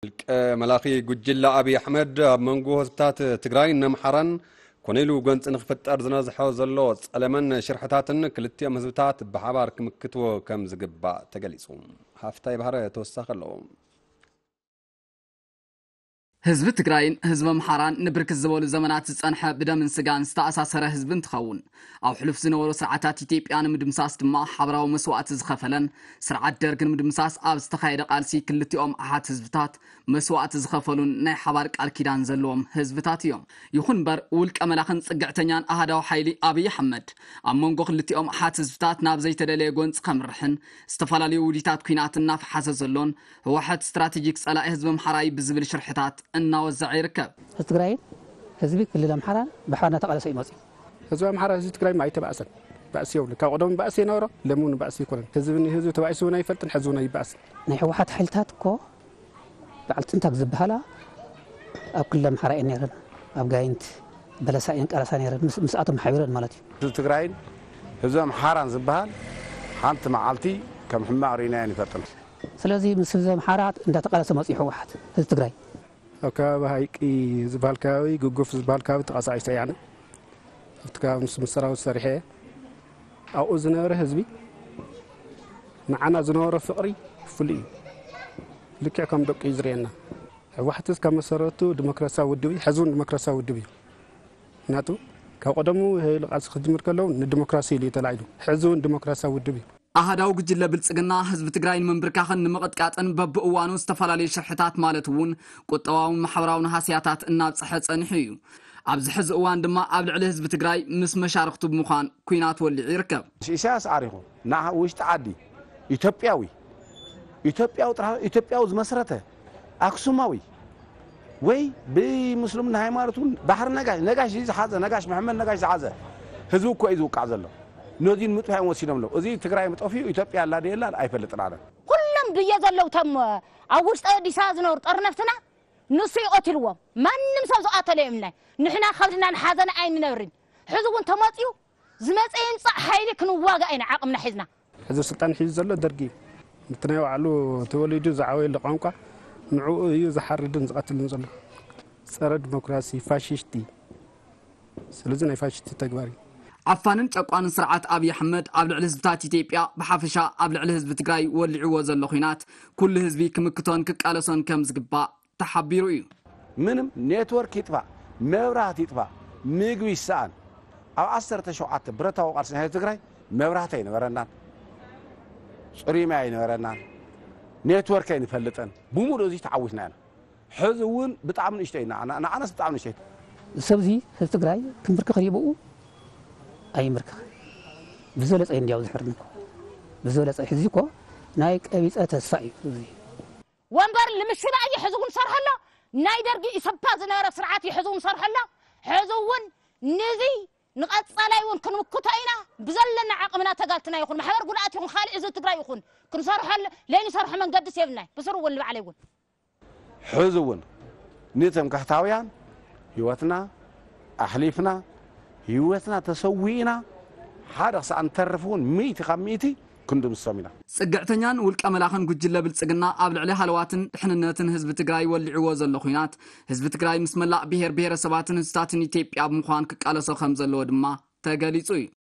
ውልቀ መላኺ ጉጅለ ኣብይ ኣሕመድ ኣብ መንጎ ህዝብታት ትግራይን ኣምሓራን ኮነ ኢሉ ጎንፂ ንክፍጠር ዝነዝሖ ዘሎ ፀለመን ሽርሕታትን ክልቲኦም ህዝብታት ብሓባር ክምክትዎ ከም ዝግባእ ተገሊፁ። ሃፍታይ ባህረ ተወሳኺ ኣለዎ። ህዝቢ ትግራይን ህዝቢ ኣምሓራን ንብርክት ዝበሉ ዘመናት ዝጸንሐ ብደምን ስጋን ዝተኣሳሰረ ህዝቢ እንትኸውን፣ ኣብ ሕሉፍ ዝነበሩ ስርዓታት ኢትዮጵያ ንምድምሳስ ድማ ሓበራዊ መስዋእቲ ዝኸፈለን ስርዓት ደርግ ንምድምሳስ ኣብ ዝተኻየደ ቃልሲ ክልቲኦም ኣሓት ህዝብታት መስዋእቲ ዝኸፈሉን ናይ ሓባር ቃል ኪዳን ዘለዎም ህዝብታት እዮም። ይኹን እምበር ውልቀ መላኽን ጽግዕተኛን ኣሃዳዊ ሓይሊ ኣብይ ኣሕመድ ኣብ መንጎ ክልቲኦም ኣሓት ህዝብታት ናብ ዘይተደለየ ጎንጺ ከምርሕን ዝተፈላለዩ ውዲታት ኲናት እናፈሓሰ ዘሎን ህወሓት ስትራቴጂክ ጸላኢ ህዝቢ ኣምሓራይ ብዝብል ሽርሕታት እናወዘዐ ይርከብ። ህዝቢ ትግራይን ህዝቢ ክልል ኣምሓራን ብሓባር እናተቓለሰ እዩ መፂኡ። ህዝቢ ኣምሓራ ህዝቢ ትግራይ ኣይተባእሰን። ባእሲ የብሉ። ካብ ቀደሙ ባእሲ የነበሮ ለምውን ባእሲ ይኮነን። ህዝቢ ንህዝቢ ተባኢሱ እውን ኣይፈልጥን፣ ሕዚ እውን ኣይባእስን። ናይ ህወሓት ሓይልታት እኮ በዓል ትንታግ ዝበሃላ ኣብ ክልል ኣምሓራ እየን ነይረን። ኣብ ጋይንት በለሳ እየን ቀለሳ ነይረን። ምስ- ምስኣቶም ሓቢረን ማለት እዩ። ህዝቢ ትግራይን ህዝቢ ኣምሓራን ዝበሃል ሓንቲ መዓልቲ ከም ሕማቕ ርኢናዮ ኣይንፈልጥን። ስለዚ ምስ ህዝቢ ኣምሓራ እንዳተቃለሰ መፅኡ ህወሓት ህዝቢ ትግራይ። ኣብ ከባቢ ሃይቂ ዝበሃል ከባቢ፣ ግጉፍ ዝበሃል ከባቢ ተቃሳዒሰ እየ ኣነ። ኣብቲ ከባቢ ምስ ምስ ሰራዊት ሰሪሐ እየ። ኣብኡ ዝነበረ ህዝቢ ንዓና ዝነበሮ ፍቕሪ ፍሉይ እዩ። ልክዕ ከም ደቁ እዩ ዝርእየና። ህወሓት እስካብ መሰረቱ ዲሞክራሲያዊ ውድብ እዩ፣ ሕዚ እውን ዲሞክራሲያዊ ውድብ እዩ። ምክንያቱ ካብ ቀደሙ ይሄ ኢሉ ቃልሲ ክጅምር ከለዉ ንዲሞክራሲ ኢሉ እዩ ተላዒሉ። ሕዚ እውን ዲሞክራሲያዊ ውድብ እዩ። ኣሃዳዊ ጉጅለ ብልጽግና ህዝቢ ትግራይ ንምንብርካኽን ንምቕጥቃጥን በብእዋኑ ዝተፈላለዩ ሽርሕታት ማለት እውን ቁጠባውን ማሕበራውን ሃስያታት እናብጽሐ ጸኒሑ እዩ። ኣብዚ ሕዚ እዋን ድማ ኣብ ልዕሊ ህዝቢ ትግራይ ምስ መሻርኽቱ ብምዃን ኲናት ወሊዑ ይርከብ። ኢሳያስ ዓሪኹ ንዓ ውሽጢ ዓዲ ኢትዮጵያዊ ኢትዮጵያዊ ጥራሕ ኢትዮጵያዊ ዝመስረተ ኣክሱማዊ ወይ ብምስልምና ሃይማኖት እውን ባሕሪ ነጋሽ ነጋሽ ዝሓዘ ነጋሽ መሐመድ ነጋሽ ዝሓዘ ህዝቢ እኮ እዩ ዝውቃዕ ዘሎ። ነዚ ንምጥፋእ እዮም ወሲኖም ኣለዉ። እዚ ትግራይ ምጠፊኡ ኢትዮጵያ ኣላ ድየላ ኣይፈልጥን ኣነ። ኩሎም ድየ ዘለዉ ቶም ኣብ ውሽጢ ኣዲስ ኣበባ ዝነብሩ ጠርነፍትና ንሱ ይቐትልዎም። ማንም ሰብ ዝቐተለ የምናይ ንሕና ከብድና ንሓዘን ኣይንነብርን። ሕዚ እውን ተመፅዩ ዝመፀ ይምፃእ ሓይሊ ክንዋጋእ ኢና ዓቕምና ሒዝና። ሕዚ ስልጣን ሒዙ ዘሎ ደርጊ እዩ። እቲ ናይ ባዕሉ ተወሊዱ ዝዓበየሉ ቋንቋ ንዕኡ እዩ ዝሓርድን ዝቐትልን ዘሎ። ፀረ ዲሞክራሲ ፋሽስት እዩ። ስለዚ ናይ ፋሽስት ተግባር እዩ። ዓፋንን ጨቋንን ስርዓት ኣብይ ኣሕመድ ኣብ ልዕሊ ህዝብታት ኢትዮጵያ ብሓፈሻ ኣብ ልዕሊ ህዝቢ ትግራይ ወሊዕዎ ዘሎ ኹናት ኩሉ ህዝቢ ክምክቶን ክቃለሶን ከም ዝግባእ ተሓቢሩ እዩ። ምንም ኔትወርክ ይጥፋእ፣ መብራህቲ ይጥፋእ፣ ምግቢ ይሰኣን፣ ኣብ ዓሰርተ ሸውዓተ ብረታዊ ቃልሲ ናይ ህዝቢ ትግራይ መብራህቲ ኣይነበረናን፣ ፅሩይ ማይ ኣይነበረናን፣ ኔትወርክ ኣይንፈልጥን፣ ብሙሉእ እዚ ተዓዊትና ኢና። ሕዚ እውን ብጣዕሚ ንእሽተይ ኢና፣ ንዓናስ ብጣዕሚ ንእሽተይ። ሰብዚ ህዝቢ ትግራይ ክንብርክኽ ድዩ ብኡ ኣይምርክኽ ብዝበለፀ እዩ እንዲያው ዝሕርኒ ብዝበለፀ ሕዚ እኮ ናይ ቀቢፀ ተስፋ እዩ እዚ ወንበር ንምሽባእ እዩ ሕዚ እውን ሰርሖ ኣሎ። ናይ ደርጊ ኢሰፓ ዝነበረ ስርዓት እዩ ሕዚ እውን ሰርሖ ኣሎ። ሕዚ እውን ንዚ ንቐፃላይ እውን ክንምክቶ ኢና። ብዘለና ዓቕምና ተጋልትና ይኹን ማሕበር ጉድኣት ይኹን ካልእ ህዝቢ ትግራይ ይኹን ክንሰርሖ ኣለ ለይንሰርሖ መንገድስ የብልናይ ብስሩ እውን ንባዕለይ እውን ሕዚ እውን ንትምክሕታውያን ህይወትና ኣሕሊፍና ህይወትና ተሰዊእና ሓደ ክሳዕ ንተርፍ እውን ሚእቲ ካብ ሚእቲ ክንድምስሶም ኢና። ፅግዕተኛን ውልቀ መላኽን ጉጅለ ብልፅግና ኣብ ልዕሊ ሃለዋትን ድሕንነትን ህዝቢ ትግራይ ወሊዕዎ ዘሎ ኹናት ህዝቢ ትግራይ ምስ መላእ ብሄር ብሄረሰባትን ህዝብታትን ኢትዮጵያ ብምዃን ክቃለሶ ከም ዘለዎ ድማ ተገሊፁ እዩ።